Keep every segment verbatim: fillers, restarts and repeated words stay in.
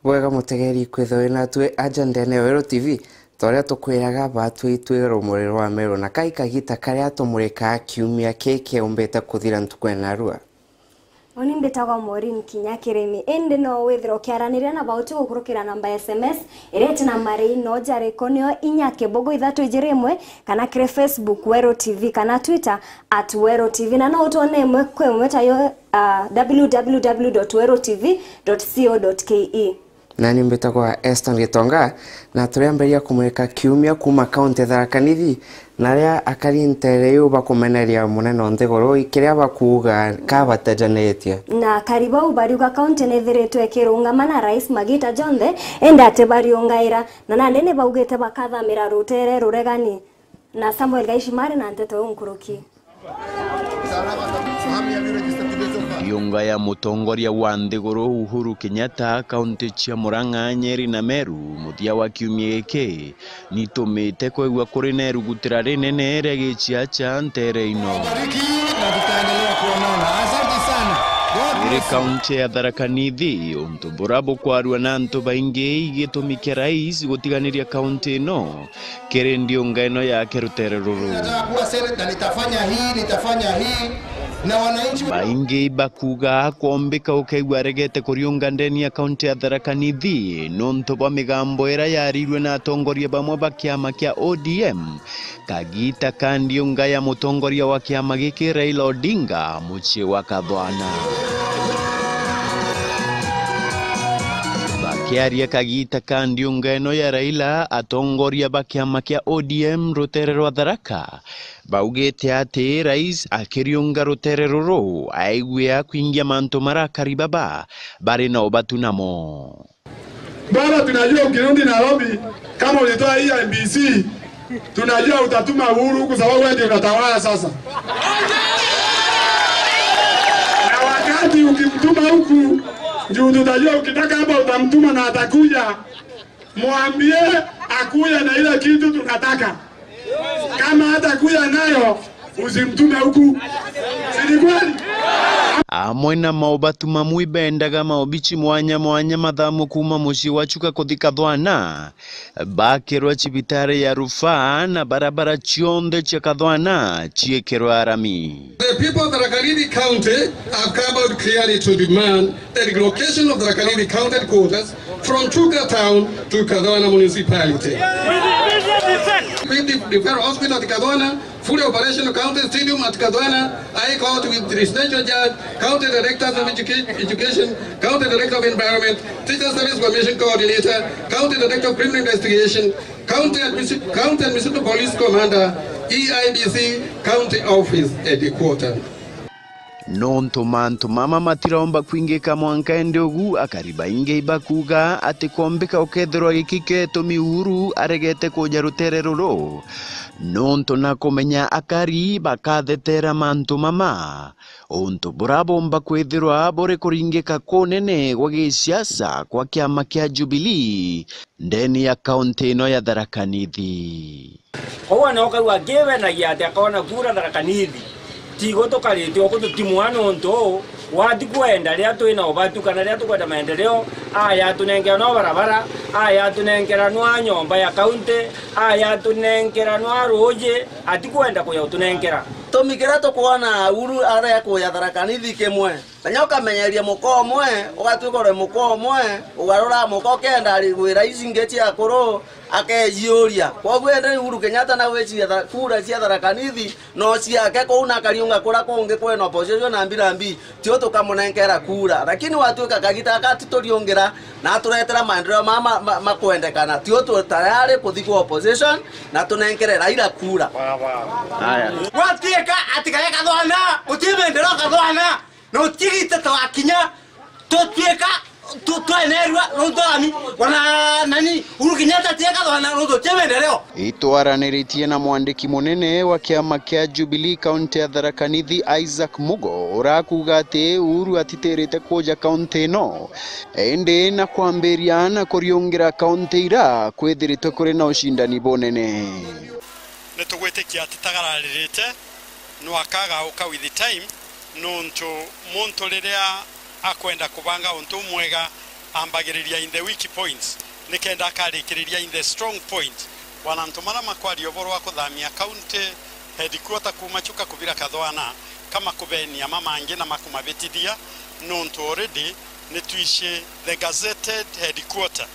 Bwega mutegeri kwithirwa wi natwi aja ndene ya Weru T V, ta uria tukwiraga batwi twi rumuri rwa Meru, na kai kagita karia tumurikaa kiumia kii kiumbite kuthira ntuku ya narua. Uni mbitagwa Maureen Kinya Kirimi. Indi no withirwa ukiaraniria na bauti gukurukira namba ya S M S iria iti na marii no jariko, nio inya kibugu ithatu ijiri imwe, kana kiri Facebook Weru T V, kana Twitter at Weru T V, na no utwone imwe kwa imwe tayo, ah, w w w dot weru t v dot co dot k e. Nani mbitagwa Eston Gitonga, na turiambiria kumurika kiumia kuuma kaunti ya Tharaka Nithi, na aria akari ntere iu bakumeneria munene o nthiguru, kiria bakuuga kabatajanitie. Na akari bau bariuga kaunti ni ithiritwe ikirungama na rais magita jonthe, indi ati bariungaira, na nandi ni baugite bakathamira rutere ruregani. Na Samuel Gaishimari na nteto iu nkuruki. Ndiunga ya mutongoria wa nthiguru Uhuru Kenyatta, kaunti cia Murang'a, Nyeri na Meru, muthia wa kiumia giki, nitumite kwigua kuri na irugutira rinene ria giciaca ntere ino. Bariki na tutaendelea kuonana. Asante sana. God bless you. Iri kaunti ya Tharaka Nithi, untu bura bukwarua na antu baingi igitumi kia rais gutiganiria kaunti ino kiri ndiunga ino yake rutere ruru. Nataka kuwa seneta, nitafanya hii, nitafanya hii, na wananchi. Baingi bakuuga kwombika ukaigua aregete kuriunga ndeni ya kaunti ya Tharaka Nithi nontu bwa migambo iria yarirue na atongoria bamwe ba kiama kia O D M kagita ka ndiunga ya mutongoria wa kiama giki Raila Odinga mucii wa Kathwana. Bakiaria kagita ka ndiunga ino ya Raila, atongoria ba kiama kia O D M rutere rwa Tharaka baugite ati rais akiriunga rutere ruru aigwia kwingia mantu maria akari baba bari na ubatu namo. Baba, tunajua ukirudi Nairobi, kama ulitoa hii I E B C, tunajua utatuma Uhuru kwa sababu wewe ndio unatawala sasa. Na wakati ukimtuma huku, juu tutajua ukitaka hapa utamtuma na atakuja, mwambie akuja na ile kitu tunataka. Kama hatakuja nayo, usimtume huku. Si ni kweli? Amwe na maubatu mamwe ibendaga maobichi mwanya mwanya mathamu kuuma mucii wa Chuka kuthi Kathwana, bakirwa cibitari ya rufaa na barabara cionthe cia Kathwana ciikirwa arami. The people of Tharaka Nithi County have come out clearly to demand the relocation of Tharaka Nithi County headquarters from Chuka town to Kathwana municipality. With the, the Referral Hospital at Kathwana, fully operational, County Stadium at Kathwana, High Court with Residential Judge, County Directors of Educa-, Education, County Director of Environment, Teacher Service Commission Coordinator, County Director of Criminal Investigation, County Admisi-, County Municipal Police Commander, E I D C, County Office Headquarters. Nontu mantu mama matiromba kwingika mwanka indi ugu, akari baingi ibakuga ati kwombika ukethirwa giki ketumi Uhuru aregete kuja rutere ruru, nontu na kumenya akari bakathetera mantu mama, untu bura bomba kwithirwa buri kuringika kunene gwa gisiasa kwa kiama kia Jubilee ndeni ya kaunti ino ya Tharaka Nithi. Kwou ane ukaigua akibenagia ati akoona kura Tharaka Nithi. Tigo tukarite uku tutimwa nontu uu, wati kwenda riria twina ubatu kana riria tukwenda maendeleo, aya atunenkera nwa barabara, aya atunenkera nwa nyomba ya kaunti, aya atunenkera nwa ruuji, atikwenda kuya utunenkera. Gitumi kiria tukwona Uhuru aria kuya Tharaka Nithi kimwe. Kanya ukamenyeria muka umwe, ugatwika uri muka umwe, ugarura muka ukenda ari gwira ici ingi cia akuru, akejiuria. Kwoguo indi Uhuru Kenyatta na gwiciria tha-, kura cia Tharaka Nithi no ciake kuu na akariunga kura kungi kwina opposition na mbirambi, tio tukamunenkera kura. Lakini watwika kagita gaka atituriungira na aturetera maendeleo ma, ma, ma, makwendekana, tio tu tayari kuthi kwa opposition na tunenkere Raila kura. Haya. Gwatwika ati kaya Kathwana, guti maendeleo Kathwana. Na utigite twakinya, tutwika, tu-, twenerua, nontu ami, wana, nani, Uhuru Kenyatta atieka thwana, nontu tie maendeleo. Itwaraniritie na mwandiki munene wa kiama kia Jubilee kaunti ya Tharaka Nithi, Isaac Mugo, urakuga ati Uhuru atitirite kuja kaunti ino, indi na kwambiria na kuriungira kaunti ira kwithiritwe kuri na ucindani bunene. Nitugwitikia atitagararirite, no akagauka with the time, nontu muntu riria akwenda kubanga untu umwega, Ambagiriria in the weak points, nikenda akarikiriria in the strong point. Wana antu mara makwaria uboro wa kuthamia county headquarter kuuma Chuka kubira Kathwana, kama kubenia mamangi na makumabitithia, nontu already nitwishi the gazetted headquarter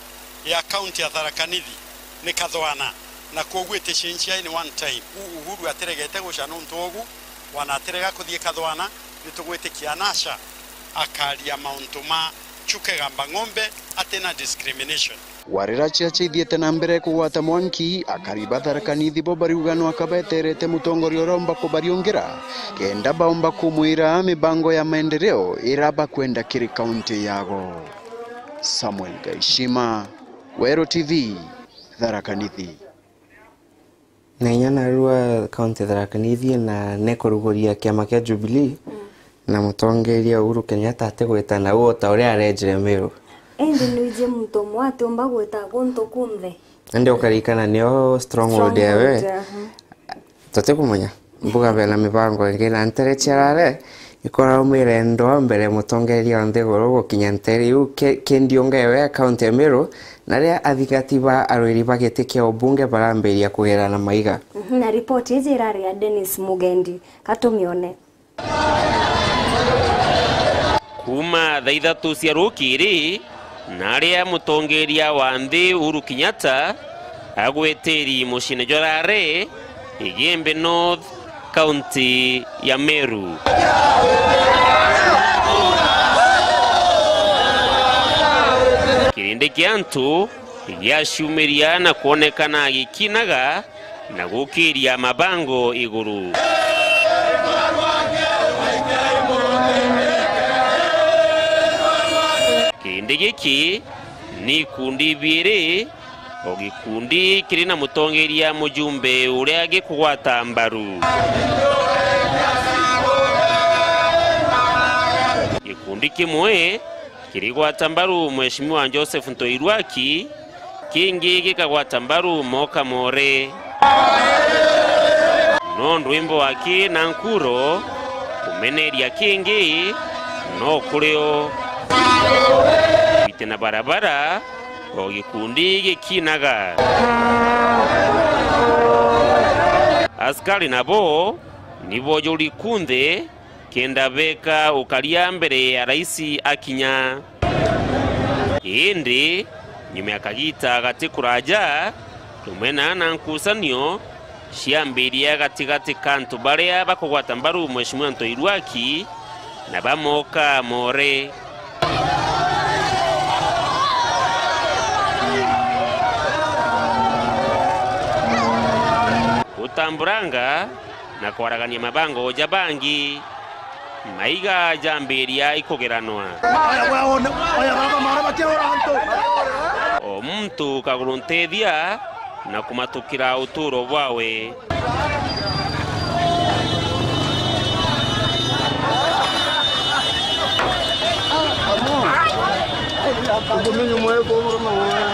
ya county ya Tharaka Nithi ni Kathwana, na kwoguo iticenjia in one time. U Uhuru atiregete guca nontu ogu, wana atirega kuthii Kathwana, nitugwitikia nasha akaria mauntu ma Chuka Igamba Ng'ombe atina discrimination. Warira ciacia ithiite na mbere kugwata mwanki, akari ba Tharaka Nithi bo bariuga no akabeterete mutongoria uria umba kubariungira, kenda baumba kumwira mibango ya maendeleo ira bakwenda kiri kaunti yago. Samuel Gaishima, Weru T V, Tharaka Nithi. Na inya narua kaunti Tharaka Nithi na nekuruguria kiama kia Jubilee, na mutongeria Uhuru Kenyatta atigwita na u o ta uria arejire Meru. Indi nwiji muntu umwe atiumba gwita guntu kunthe. Indi ukarikana nio stronghold yawe. Stronghold, aha. Tutikumenya. Mbuga bena mibango ingi na ntere cia Rare ikora umire ndwa mbere mutongeria wa nthiguru gukinya ntere iu ke-, kendi ungewe kaunti ya Meru, na ria athingati ba arwiri ba giti kia ubunge barambiria kugerana maiga. Mhm, na ripoti iji irari ya Dennis Mugendi. Ka tumione. Kuuma thaa ithatu cia rukiri, na aria mutongeria wa nthi Uhuru Kenyatta agweteri muciine jwa Rare, Igembe North, kaunti ya Meru. Kirindi kia antu giaciumiria na kwonekana gikinaga na gukiria mabango iguru. Kindi giki ni ikundi ibiiri, o gikundi kiri na mutongeria mujumbe uria gikugwata mbaru. Gikundi kimwe kirigwata mbaru Mheshimiwa Joseph Ntoirwaki, kingi gikagwata mbaru Moka More. No ndwimbo aki na nkuro kumeneria kingi no kurio. Biti na barabara, o gikundi gikinaga. Askari nabo ni bojuri kunthe kenda beka ukaria mbere ya raisi akinya. Indi nyuma ya kagita gati kuraja, tumena na nkucanio ciambirie gatigati ka antu baria bakugwata mbaru Mheshimiwa Ntoirwaki na ba Moka More. Gutamburanga na kwaragania mabango ja bangi, maiga jambiria ikugeranwa. Oya, oya, oya, oya, baba, mara batirora antu. O muntu kaguru ntethia na kumatukira uturo bwawe.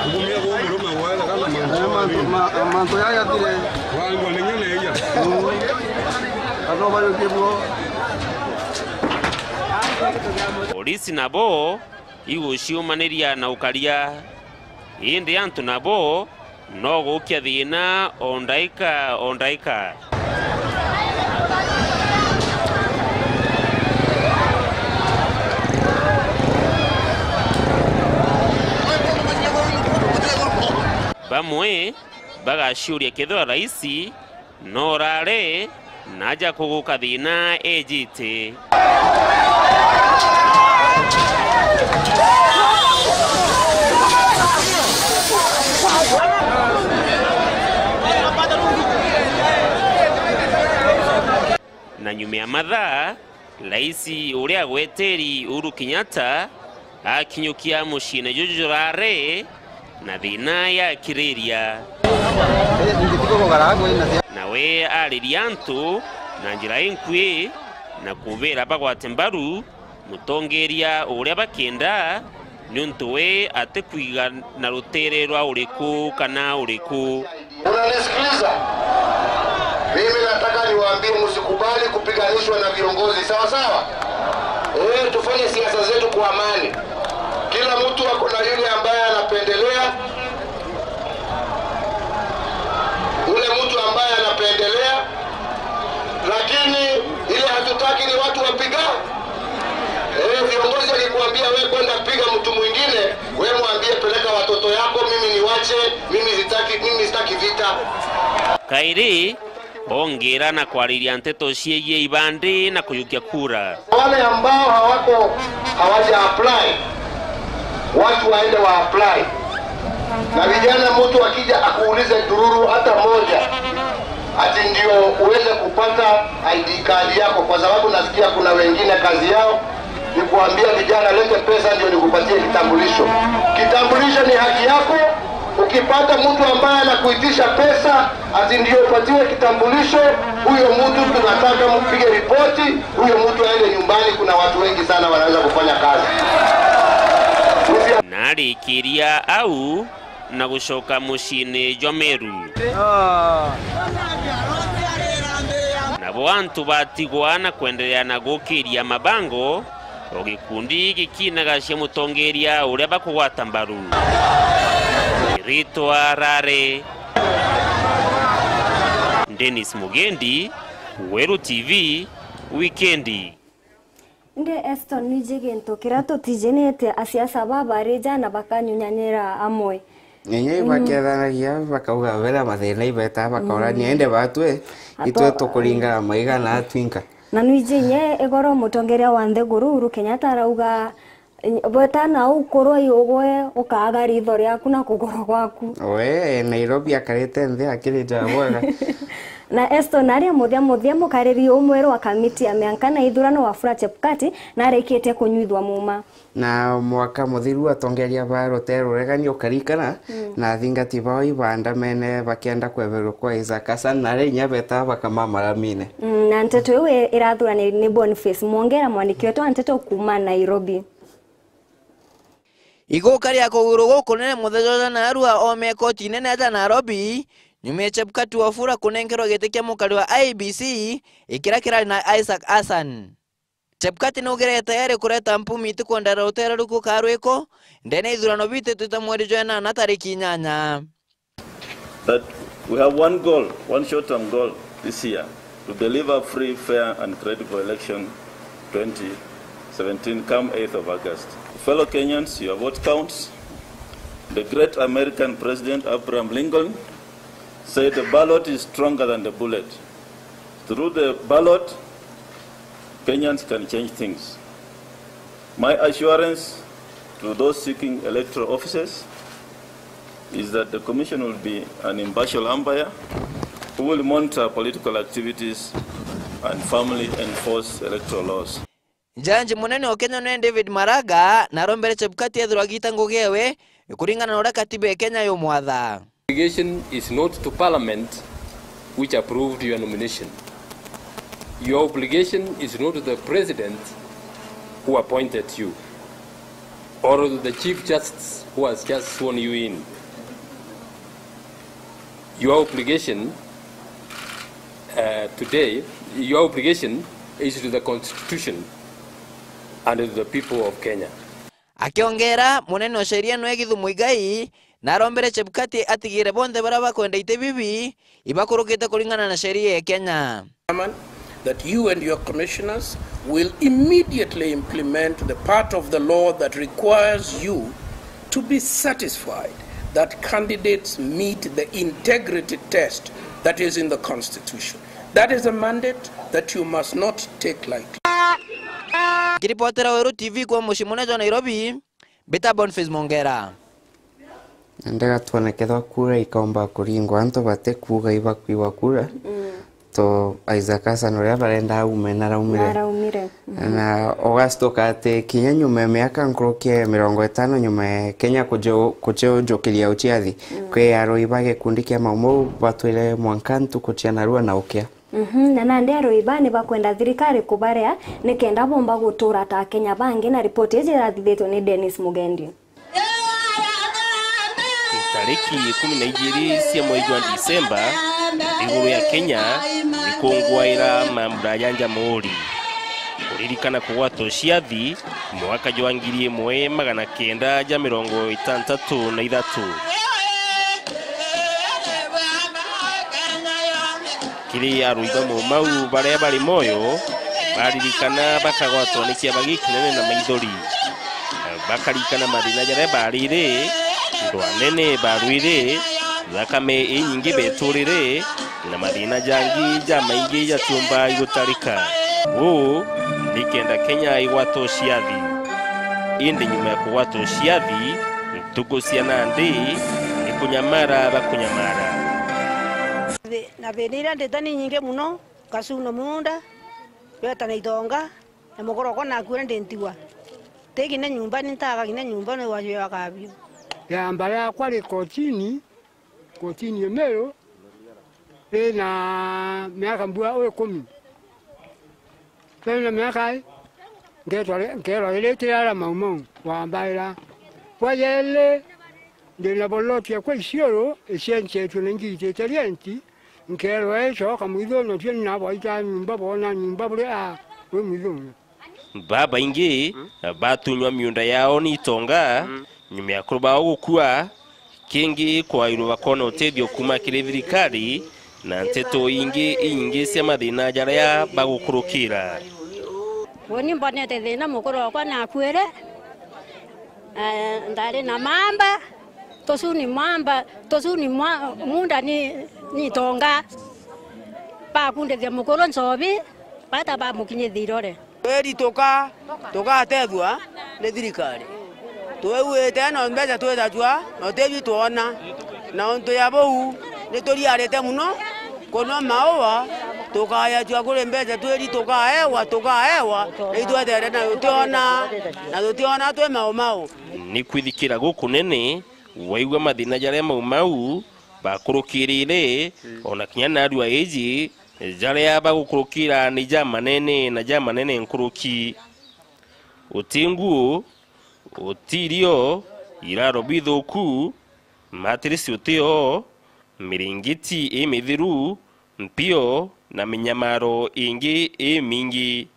Ngumia gwa murume wega na mantu. Eh, mantu, ma-, mantu yaya thire. Wangwa ni nyene iya. Mm. Atho bayo kibwo. Polisi nabo iguciumaniria na ukaria. Indi antu nabo no gukia thiina o ndaika o ndaika. Bamwe bagaciuria kethira raisi no urare naja kuguka thiina ejite. Na nyuma ya mathaa, raisi uria agweteri Uhuru Kenyatta akinyukia muciine juju jurare na thiina yakiriria. Nawe ariria antu na njira inkui na kubira bagwate mbaru mutongeria uria bakienda, niuntu we atikwiga na rutere rwa uriku kana uriku. Unanisikiliza? Mimi nataka niwaambie, msikubali kupiganishwa na viongozi, sawa sawa? Eh, tufanye siasa zetu kwa amani. Kila mtu ako na Watu wapiga? Eh, viongozi akikuambia we kwenda piga mtu mwingine, we mwambie peleka watoto yako, mimi niwache, mimi sitaki, mimi sitaki vita. Kairi, ongeera na kwariria nteto ciegie ibandi na kujukia kura. Wale ambao hawako, hawaja apply, watu waende wa apply. Na vijana, mtu akija akuulize ndururu hata moja, ati ndio uweze kupata I D card yako, kwa sababu nasikia kuna wengine kazi yao ni kuambia vijana, "Lete pesa ndio nikupatie kitambulisho." Kitambulisho ni haki yako. Ukipata mtu ambaye anakuitisha pesa ati ndio upatiwe kitambulisho, huyo mtu tunataka mpige ripoti, huyo mtu aende nyumbani. Kuna watu wengi sana wanaweza kufanya kazi. Narikiria au na gucoka muciini jwa Meru. Nabo antu batigwa na kwenderea na gukiria mabango, o gikundi gikinagacia mutongeria uria bakugwata mbaru. Ritwa rari Dennis Mugendi, Weru T V, Wikendi. Indi Eston, niji gintu kiria tutiji ni ati asiasa baa bari ja na bakanyunyanyira amwe. Inya ibakethanagia, bakauga bena mathina ibeta, bakaurania, indi batwe, itwe tukuringana maiga na atwinka. Na nwiji inya igoro mutongeria wa nthiguru Uhuru Kenyatta arauga, bweta na ukurwa iugwe ukaaga ritho riaku na kuguru gwaku. We, Nairobi akarite nthi akirita bwega. Na Eston aria muthia muthia, mukariri umweru wa kamiti ya mianka na ithurano Wafula Chebukati narikitie kunyuithua muuma. Na mwaka muthiru atongeria ba rutere ruregani ukarikana, na athingati bao ibaandamene bakienda kweberwa kwa Isaac Hassan, na aria inya beta bakamamaramine. Mm, na nteto iu i-, irathurani ni Boniface Mwongera, mwandiki wetu wa nteto kuuma Nairobi. Iguka ria kuguru gukunene muthenya jwa narua oome koti nene ja Nairobi, nyuma ya Chebukati Wafula kunenkerwa giti kia mukari wa I E B C, ikiria kirari na Isaac Hassan. Chebukati naugire tayari kureta mpumi itikwendera rutere ruku ka rwiko, ndene ithurano bititwite mweri jwa enana tariki inyanya. That we have one goal, one short-term goal this year, to deliver free, fair and credible election twenty seventeen come eighth of August. Fellow Kenyans, your vote counts. The great American President Abraham Lincoln said, "The ballot is stronger than the bullet." Through the ballot, Kenyans can change things. My assurance to those seeking electoral offices is that the Commission will be an impartial umpire who will monitor political activities and firmly enforce electoral laws. Jaji munene o Kenya ni David Maraga, na arombere Chebukati ethirwa agita ngugi ewe, kuringana na uria katiba ya Kenya yumwatha. Obligation is not to Parliament which approved your nomination. Your obligation is not to the President who appointed you, or to the Chief Justice who has just sworn you in. Your obligation, uh, today, your obligation is to the Constitution and to the people of Kenya. Akiongera, munene o sheria nwe Githu Muigai, na arombere Chebukati atigire bonthe baria bakwenda iti bibi ibakurukite kuringana na sheria ya Kenya. That you and your commissioners will immediately implement the part of the law that requires you to be satisfied that candidates meet the integrity test that is in the Constitution. That is a mandate that you must not take lightly. Kiripotera Weru T V kwa mucii munene jwa Nairobi, mbita Boniface Mwongera. Ndega twone kethwa kura ikaumba kuringwa, antu batikuuga ibakwigwa kura. Mm. To Isaac Hassan uria barenda aume naraumire. Naraumire. Mhm. Na ugastuka ati kinya nyuma ya miaka nkuruki ya mirongo itano nyuma ya Kenya kuju-, kujujukiria uciathi, mm, kwi arui ba gikundi kia Mau Mau batwire mwanka ntuku cia narua na ukia. Mhm, na nandi arui ba ni bakwenda thirikari kubarea nikenda bomba gutura ta Akenya bangi, na ripoti iji irathithitwe ni Dennis Mugendi. Tariki ikumi na igiri cia mweri jwa Disemba, nthiguru ya Kenya ikunguaira mambura ja Jamhuri. Kuririkana kugwatwa ciathi mwaka jwa ngiri imwe magana kenda ja mirongo itantatu na ithatu. Kiri arui ba Mau Mau baria bari moyo, Aririkana bakagwatwa ni kiaba gikinene na maithori. Bakarikana mathina jaria bariri, ndwa nene barwiri, thakame inyingi beturiri, na mathina jangi jamaingi jatiumba igutarika. Uu ni kenda Kenya igwatwa ciathi. Indi nyuma ya kugwatwa ciathi, ntuku cia nandi ni kunyamara bakunyamara. Thi-, na thina iria ndita ni nyingi muno, ngacuna muunda, beta na itonga, na mukuru okwa nakuire ndi ntigwa. Ti kinya nyumba, ni ntaga kinya nyumba, ni wajwe wa kabio. Yamba yakwa ri kotini, kotini ya Meru, ina miaka mbua ikumi. Tena miaka i, ngetwa ri-, nkerwa iri tirara Mau Mau, wambaira. Bwa yeli, ndina boloti yakwa Isiolo, icenjetwe na ingitite renti, nkerwa icoka mwithone, tio ni nabwaita nyumba, boona nyumba buri a, wi mwithone. Babaingi batunywa miunda yao ni itonga, nyuma ya akuru bao gukua, kingi kwairwa bakona utethio kuuma kiri thirikari, na nteto ingi inyingi cia mathina jaria bagukurukira. Uuni mbonete thina, mukuru okwa nakuire, eh, ndari na mamba, tucuni mamba, tucuni mwa-, munda ni, ni itonga. Bakundithia mukuru nchobi, bata bamukinyithia irore. Tweri tuka-, tugatethua ni thirikari. Twiguite na mbeca twitacua, na utethio twona. Na untu ya buu, ni turiarite muno kunwa maua, tukayacua kuri mbeca tweri tukaewa, tukaewa, na itwetere na tutiona, na tutiona twi mau mau. Ni kwithikira gukunene, waigua mathina jaria Mau Mau bakurukirire, ona kinya narua iji, jaria bagukurukira ni jamanene na jamanene nkuruki. Uti nguu, uti irio, iraro bithuku, matirisi uti o, miringiti imithiru, mpio na minyamaro ingi imingi.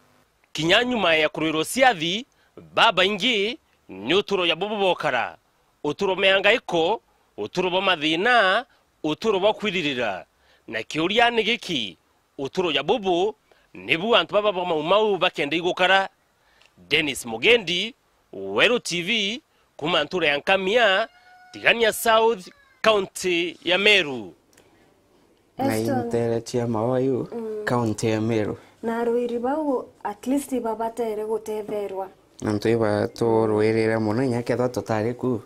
Kinya nyuma ya kurwirwa ciathi, babaingi ni uturo ja bubu bokara, uturo mea ngaiko, uturo bwa mathina, uturo bwa kwiririra. Na kiuria ni giki, uturo ja bubu nibu antu baba ba Mau Mau bakenda igukara? Dennis Mugendi, Weru T V, kuuma ntura ya Nkamia, Tigania South, kaunti ya Meru. Na Eston. Intere cia Maoa yu, mm, kaunti ya Meru. Na arwiri bau, at least, babatere gutetherwa. Antu iba turwirire mono, inya kethwa tutari ku,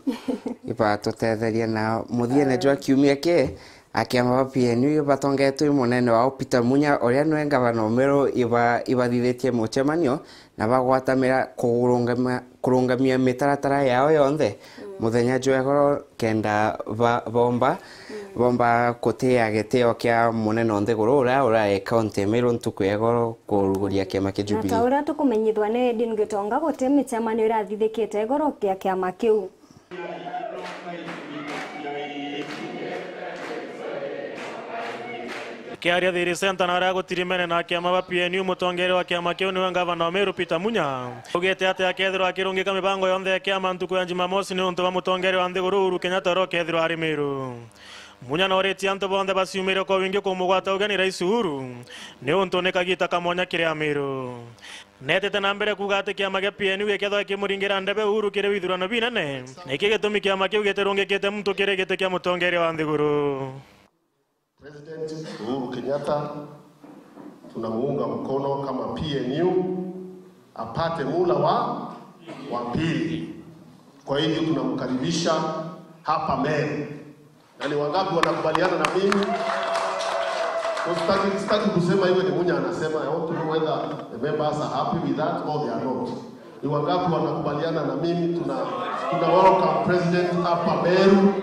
iba tutetheria. Na muthiene jwa kiumia ki, akiama ba P N U ibatongetwe i munene wao Peter Munya, uria niwe ngavana o Meru, iba, ibathithitie mucemanio na bagwatamira kurungamia, kurungamia mitaratara yao yonthe, mm, muthenya jwa igoro kenda ba-, bomba, mm, bomba kutia gitio kia munene o nthiguru uria urai kaunti ya Meru ntuku ya igoro kuruguria kiama kia Jubilee. Na ta uria tukumenyithwa ni Edwin Gitonga, guti micemanio irathithikite igoro kia kiama kiu. Kiaria Thiri Center na aria gutirimene na kiama ba P N U, mutongeria wa kiama kiu niwe ngavana wa Meru Peter Munya. Augite ati akethirwa akirungika mibango yonthe ya kiama ntuku ya Jumamosi ni untu bwa mutongeria wa nthiguru Uhuru Kenyatta uria ukethirwa ari Meru. Munya noritie antu bonthe baciumire kwa wingi kumugwata ugeni Rais Uhuru, ni untu ni kagita ka mwanya kiri Ameru. Netete na mbere kuuga ati kiama gia P N U gikethwa gikimuringira ndebe Uhuru kiri withurano binene, niki gitumi kiama kiu gitirungikite muntu kiri giti kia mutongeria wa nthiguru. President Uhuru Kenyatta, tunamuunga mkono kama P N U apate muhula wa, wa pili. Kwa hivyo tunamkaribisha hapa Meru. Na ni wangapi wanakubaliana na mimi? Sitaki, sitaki kusema iwe ni Munya anasema, I want to know whether the members are happy with that or they are not. Ni wangapi wanakubaliana na mimi? Tuna, tuna welcome President hapa Meru.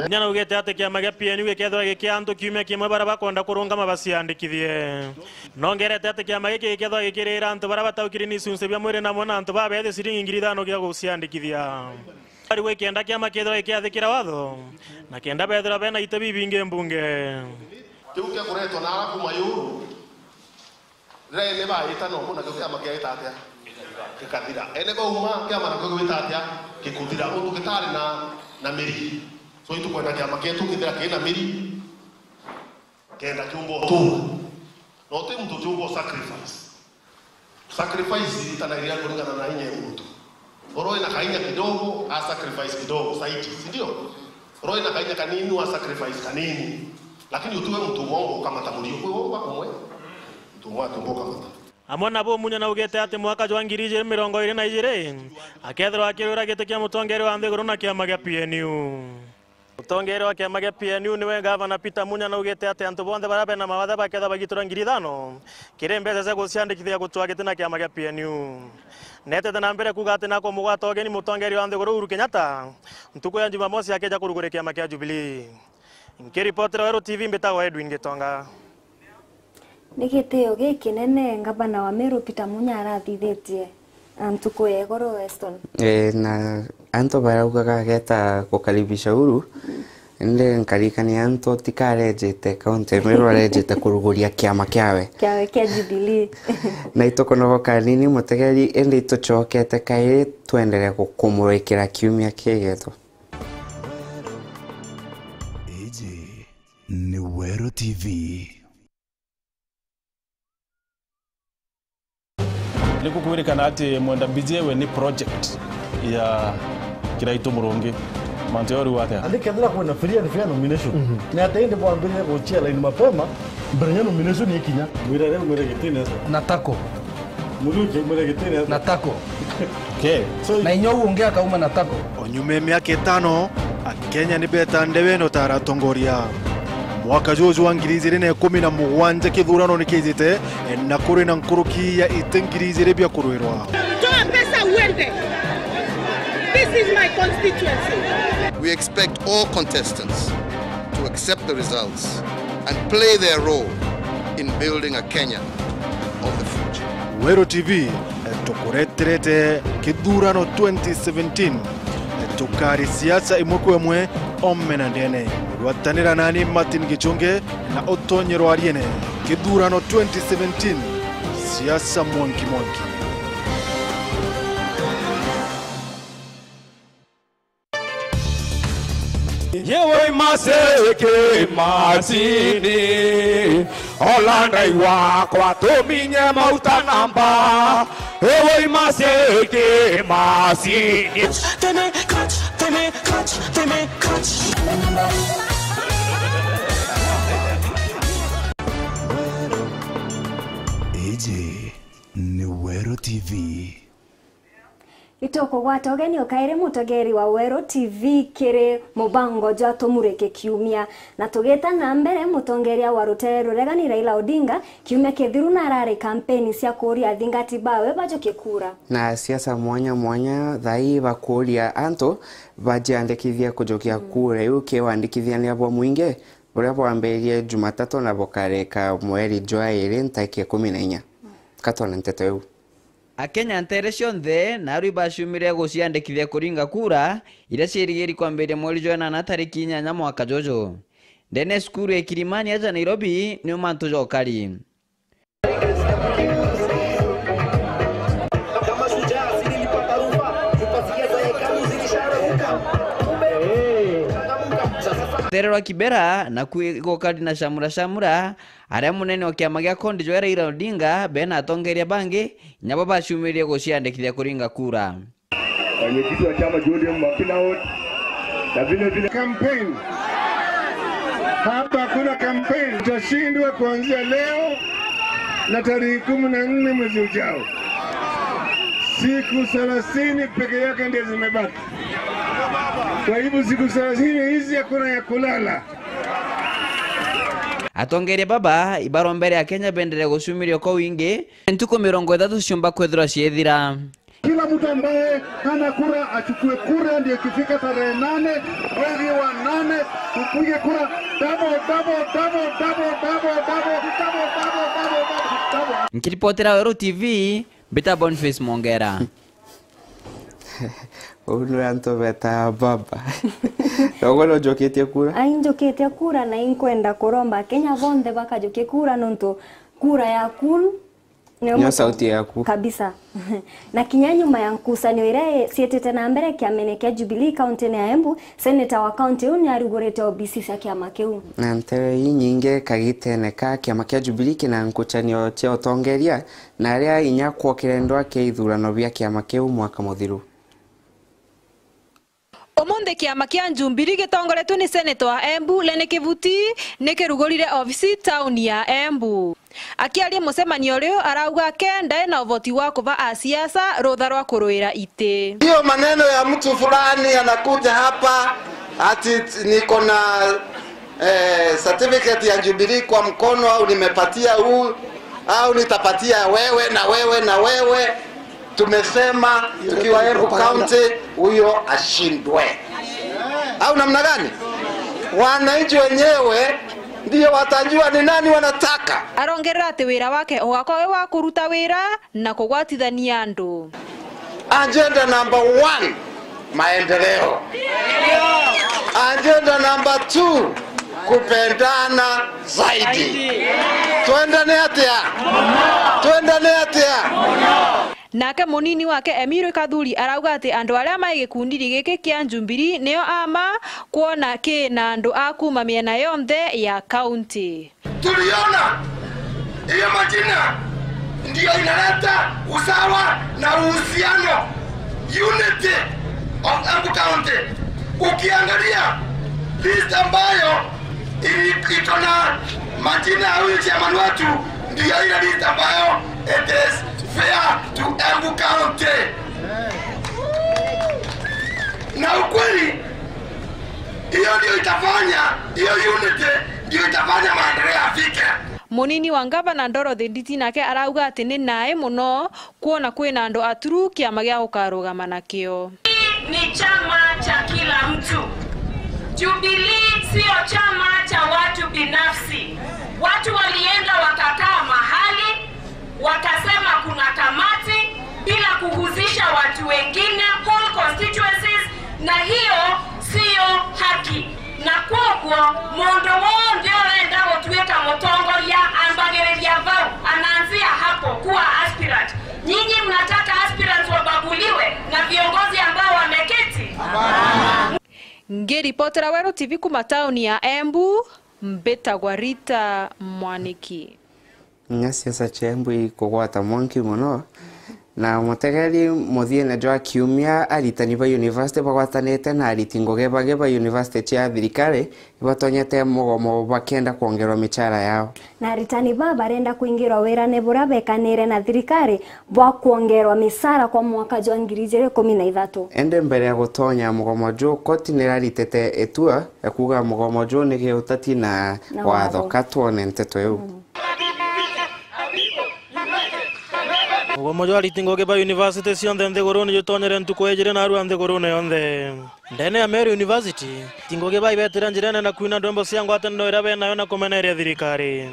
Nyana ugite ati kiama gia P N U gikethirwa gikia antu kiumia kimwe baria bakwenda kurungama baciandikithie. Nongerete ati kiama giki gikethirwa gikirira antu baria bataukiri ni icunci bia mwiri namwe na antu babethi ciringi ngiri ithano gia guciandikithia. Bari gwikienda kiama kethirwa gikiathikira watho, na kenda bethirwa bena ite bibingi mbunge. Kiu kia kuretwa na ara kuma yuru, riria ene baita nomo nakio kiama kiaita atia? Gikathira. Ene bauma kiama nakio gigwita atia? Gikuthira. Untu gitari na, na miri. So itukwenda kiama kietu kithira kina miri. Kenda kiumba utura. Na uti muntu utiumba sacrifice. Sacrifice iritanagiria kuringana na inya ya muntu. Uria wina kainya kidogo, a sacrifice kidogo zaidi, si ndio? Uria wina kainya kanini, a sacrifice kanini. Lakini utiwe muntu umwe ukamata murio. Kwi umba umwe, muntu umwe atiumba ukamata. Amwe nabo Munya naugite ati mwaka jwa ngiri ijiri mirongo iri na ijiri, akethirwa akirwira giti kia mutongeria wa nthiguru na kiama gia P N U. Mutongeria wa kiama gia P N U niwe Gavana Peter Munya naugite ati antu bonthe baria bena mawathe bakethirwa bagitura ngiri ithano kiri mbeca cia guciandikithia gutua giti na kiama gia P N U. Netete na mbere kuuga ati nakumugwata ugeni mutongeria wa nthiguru Uhuru Kenyatta ntuku ya Jumamosi akija kuruguria kiama kia Jubilee. Nkiripotera Weru T V, mbitagwa Edwin Gitonga. Ni gitio gikinene ngavana wa Meru Peter Munya arathithitie, a, ntuku ya igoro, Weston. E, na antu baraugaga ageta gukaribisha Uhuru, indi nkarikania antu tikarejete kaunti ya Meru, arejete kuruguria kiama kiawe. Kiawe kia Jubilee. Na itukunogoka nini mutegeri, indi itucokete kairi twenderea gukumurikira kiumia kigetu. Iji ni Weru T V. Ni kukwirikana ati Mwenda Mbijiwe ni project ya Kiraitu Murungi. Mantu yori wate. Andi kethira kwina free and fair nomination, ni ati indi bwambirire guchia line mapema mbere ya nomination ikinya? Mwira riu mwire gitine. Na tako. Muthuki mwire gitine. Na tako. Okay. So na inya uu ungi akauma na tako. O nyuma ya miaka itano, Akenya ni beta ndebe no ta aratongoria. Mwaka juju wa ngiri ijiri na ikumi na mugwanja kithurano ni kijite, na kuri na nkuruki ya iti ngiri ijiri bia kurwirwa. Toa pesa uende. This is my constituency. We expect all contestants to accept the results and play their role in building a Kenya of the future. Weru T V, tukureterete kithurano twenty seventeen. Tukari siasa imwe kwa imwe, ome na ndene. Gwatanira nani Martin Gichunge na utonye rwariene. Kithurano twenty seventeen, siasa mwanki mwanki. Yewe maseke masini, ola Ngai wakwa tuminye mauta namba. Yewe maseke masini. Tene cut, tene cut, tene cut. Iji ni Weru T V. Itukugwata ugeni ukairi mutegeri wa Weru T V kiri mubango jwa Tumurike Kiumia. Na tugita na mbere, mutongeria wa rutere ruregani Raila Odinga kiumia kithiru narari kampeni cia kuuria athingati bawe bajukie kura. Na siasa mwanya mwanya thaa ii bakuuria antu bajiandikithie kujukia kura iu ki wandikithania bwa mwingi buria bwambiririe Jumatatu na bukarika mweri jwa iri ntariki ikumi na inya. Katwona nteto iu. Akenya nteere cionthe naarua ibaciumire guciandikithia kuringa kura, iria ciirigiri kwambiria mweri jwa inana tariki inyanya mwaka juju. Ndene ya cukuru ya Kilimani aja Nairobi, niu mantu jokari. Rutere rwa Kibera, naku igokari na camura camura, aria munene wa kiama gia Kondi jwa Raila Odinga, bena atongeria bangi, nabo baciumiririe guciandikithia kuringa kura. Wenyekiti wa chama cha O D M wa kila ward, na vile vile campaign. Hapa hakuna campaign. Tutashindwa kuanzia leo na tarehe kumi na nne mwezi ujao. Siku thelathini peke yake ndio zimebaki. Kwa hivyo siku thelathini hizi hakuna ya kulala. Atongeria baba ibarombere Akenya bendere gucumiria kwa wingi, ntuku mirongo ithatu ciumba kwithirwa ciethira. Kila mtu ambaye hana kura achukue kura, ndio ikifika tarehe nane mwezi wa nane tupige kura double, double, double. Nkiripotera Weru T V, mbita Boniface Mwongera. Uu ni antu beta baba. Noguo no njukitie kura? Ai, njukitie kura na inkwenda kuromba Akenya bonthe bakajukie kura nontu kura yaku Nio sauti yaku. Kabisa. Na kinya nyuma ya nkucanio iria ciitite na mbere kiamene kia Jubilee kaunti-ini ya Embu, seneta wa kaunti iu niarugurite obisi cia kiama kiu. Na ntere inyingi kagitene ka kiama kia Jubilee kina nkucanio cia utongeria, na aria inya kwokire ndwaa kia ithurano bia kiama kiu mwaka muthiru. Umunthi kiama kia Jubilee gitongoretue ni seneta wa Embu Lenny Kivuti nikirugurire obisi tauni ya Embu. Akiaria mucemanio riu arauga ke ndai na uvoti wa kuva asiasa rutha rwa kuruira iti. Hiyo maneno ya mtu fulani anakuja hapa ati niko na eh, certificate ya Jubilee kwa mkono, au nimepatia huu, au nitapatia wewe na wewe na wewe. Tumesema tukiwa Embu County, huyo ashindwe. Au namna gani? Wananchi wenyewe ndio watajua ni nani wanataka. Arongerera ati wira wake ugakwa wi wa kuruta wira na kugwatithania andu. Agenda number one, maendeleo. Agenda number two, kupendana zaidi. Twendane atia? Twendane atia? Nake munini wake Emiri Kathuri arauga ati andu aria mai gikundiri giki kia Jubilee nio ama kwona ki na andu a kuma miena yonthe ya kaunti. Tuliona hiyo majina ndio inaleta usawa na uhusiano, unity of Embu County. Ukiangalia list ambayo ili-, iko na majina ya huyu chairman wetu, ndio ile list ambayo it is fair to Embu County. Na ukweli, hiyo ndio itafanya, hiyo unity ndio itafanya maendeleo yafike. Munini wa ngavana Dorothy Nditi nake arauga ati ni nae mono kwona kwina andu aturu kiama gia gukarugama nakio. Ni chama cha kila mtu. Jubilee sio chama cha watu binafsi. Watu walienda wakakaa mahali, wakasema kuna kamati bila kuhusisha watu wengine, whole constituencies, na hiyo siyo haki. Na kwoguo, mundu wonthe urenda gutuika mutongoria ambagiriria vau, anaanzia hapo kuwa aspirant. Nyinyi mnataka aspirants wabaguliwe na viongozi ambao wameketi? Ngiripotera Weru T V kuma tauni ya Embu, mbitagwa Rita Mwaniki. Inya siasa cia Embu ikugwata mwanki mono, na mutegeri muthiene jwa kiumia, aritani ba university bagwatanite na ariti ngugi bangi ba university cia thirikari ibatonyete mugomo bakienda kwongerwa michara yao. Na aritani ba barenda kwingirwa wirane buria bekanire na thirikari bwa kwongerwa michara kwa mwaka jwa ngiri ijiri ikumi na ithatu. Indi mbere ya gutonya mugomo juu, koti niraritite itua ya kuuga mugomo juu ni giutati na Na watho. Watho. Ka twone nteto iu. Mm. Mugomo jwa ariti ngugi ba university cionthe nthiguruni jutonyere ntuku ijiri narua nthiguruni yonthe. Ndene ya Meru University, ariti ngugi bai betire njirene na kwina ndwimbo cia ngwataniro iria benayo na kumeneria thirikari.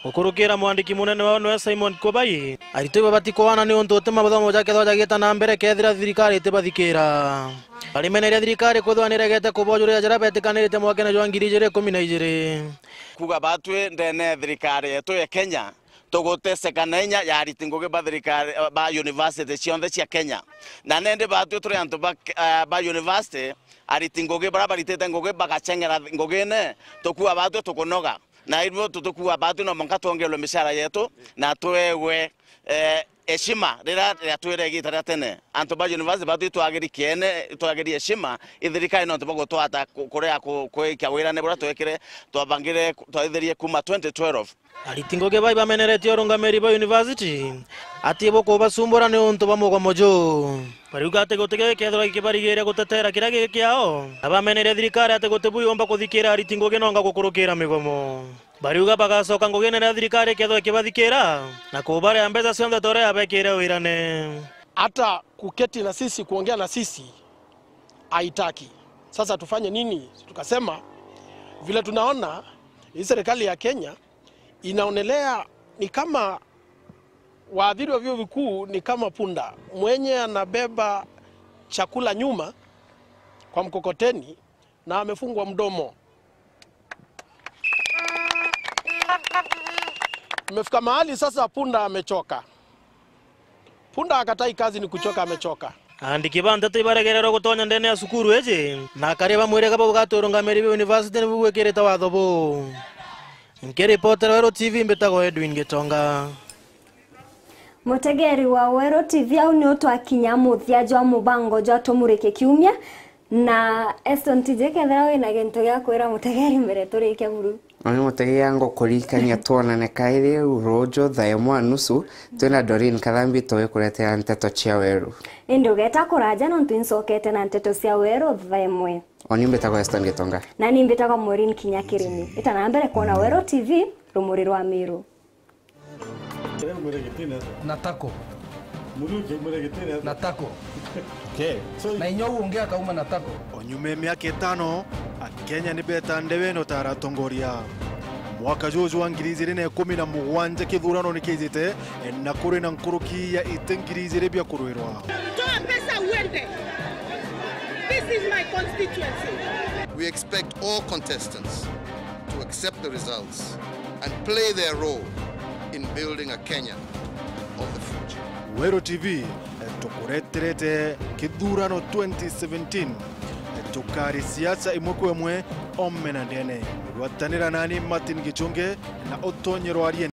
Gukurukira mwandiki munene wao niwe Simon Kubai, ariti ibo batikwana niuntu uti mathomo jakethwa jagiita na mbere kethira thirikari itibathikira. Barimeneria thirikari kwithwa niregete kubojuria jaria betikanirite mwakene jwa ngiri ijiri ikumi na ijiri. Kuuga batwi ndene ya thirikari yetu ya Kenya, tuguteseka na inya ya ariti ngugi ba thirikari, ba university cionthe cia Kenya. Na nindi batwi turi antu ba, eh, ba university, ariti ngugi baria baritite ngugi bagacheng'era ngugine, tukuuga batwi tukunoga. Na irio tukuuga batwi no mwanka twongerwe michara yetu na twewe, eh, heshima riria riatwire igita ria tene. Antu ba university batwi twagiri kiene, twagiri heshima i thirikari nontu bwa gutwata ku-, kuria ku-, kwikia wirane buria twekire, twabangire, twaithirie kuma twenty twelve. Ariti ngugi bai bameneretie urungamiri ba university ati bukubasumbura niuntu bwa mugomo juu. Bariuga ati guti gikethirwa gikibarigiria gutetera kiria giki kiao, na bameneria thirikari ati guti bu yumba kuthikira ariti ngugi nonga gukurukira migomo. Bariuga bagacoka ngugine riria thirikari ikethirwa ikibathikira na kubarea mbeca cionthe ta uria yabekire wirane. Hata kuketi na sisi, kuongea na sisi haitaki. Sasa tufanye nini? Tukasema vile tunaona hii serikali ya Kenya inaonelea ni kama waathiri wa vyuo vikuu ni kama punda mwenye anabeba chakula nyuma kwa mkokoteni na amefungwa mdomo. Imefika mahali sasa punda amechoka. Punda akatai kazi, ni kuchoka amechoka. Aandiki ba nteto ibaregererwe gutonya ndene ya cukuru iji, na akari ba mwiriga bau gaturungamiri ba university nibu gwikirite watho buu. Nkiripotera Weru T V, mbitagwa Edwin Gitonga. Mutegeri wa Weru T V, au ni utwakinya muthia jwa mubango jwa Tumurike Kiumia. Na Eston T J, kethira wina gintu gia kwira mutegeri mbere turikia buru. Oni mutegeri, ngukurikania twonane kairi riu ruju thaa imwe na nusu, twina Doreen Kathambi tugikuretera nteto cia Weru. Indi ugeta kuraja, nontu incokete na nteto cia Weru thaa imwe. Oni mbitagwa Eston Gitonga. Na ni mbitagwa Maureen Kinya Kirimi. Ita na mbere kwona Weru T V, rumuri rwa Miru. Na tako. Na tako. Okay. Na inya uu ungi akauma na tako. O nyuma ya miaka itano, Akenya ni beta ndewene utara atongoria. Mwaka juju wa ngiri ijiri na ikumi na mugwanja kithurano ni kijite, na kuri na nkuruki ya iti ngiri ijiri bia kurwirwa. Toa pesa uende. This is my constituency. We expect all contestants to accept the results and play their role in building a Kenya of the future. Weru T V, eh, tukureterete kithurano twenty seventeen. Eh, tukari siasa imwe kwa imwe, ome na ndene. Gwatanira nani Martin Gichunge na utonye rwarie